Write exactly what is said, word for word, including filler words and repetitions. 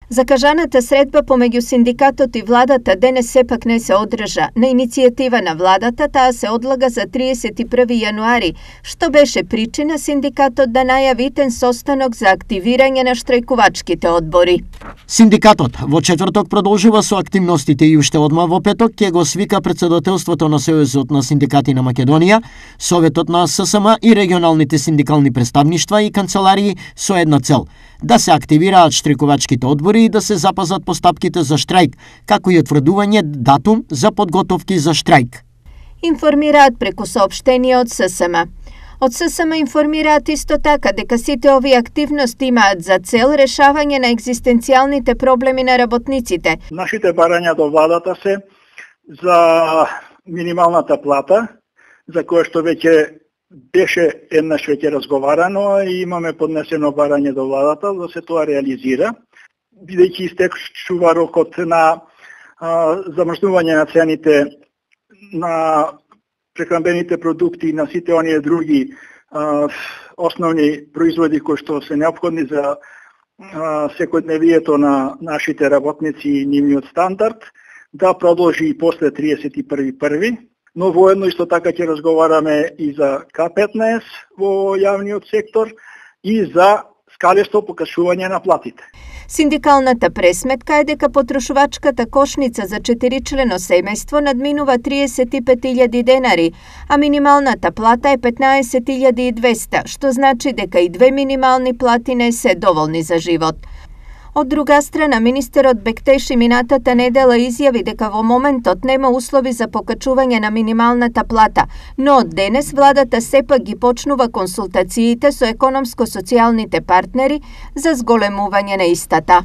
Закажаната средба помеѓу синдикатот и владата денес сепак не се одржа. На иницијатива на владата таа се одлага за триесет и први јануари, што беше причина синдикатот да најави итен состанок за активирање на штрајкувачките одбори. Синдикатот во четврток продолжува со активностите и уште одма во петок ќе го свика председателството на Сојузот на синдикати на Македонија, Советот на ССМ и регионалните синдикални представништва и канцеларии со една цел – да се активираат штрајкувачките одбори и да се запазат постапките за штрајк, како и утврдување датум за подготовки за штрајк. Информираат преку соопштение од ССМ. Од ССМ информираат исто така дека сите овие активности имаат за цел решавање на екзистенцијалните проблеми на работниците. Нашите барања до владата се за минималната плата, за која што веќе беше еднаш веќе разговарано и имаме поднесено барање до владата да се тоа реализира, бидејќи истечува рокот на а, замрзнување на цените на прехранбените продукти и на сите оние други а, основни производи кои што се неопходни за а, секојдневието на нашите работници и нивниот стандард, да продолжи и после триесет и први први. Но воедно исто така ќе разговараме и за К петнаесет во јавниот сектор и за скалесто покажување на платите. Синдикалната пресметка е дека потрошувачката кошница за четиричлено семејство надминува триесет и пет илјади денари, а минималната плата е петнаесет илјади и двесте, што значи дека и две минимални плати не се доволни за живот. Од друга страна, министерот Бектеши минатата недела изјави дека во моментот нема услови за покачување на минималната плата, но од денес владата сепак ги почнува консултациите со економско-социјалните партнери за зголемување на истата.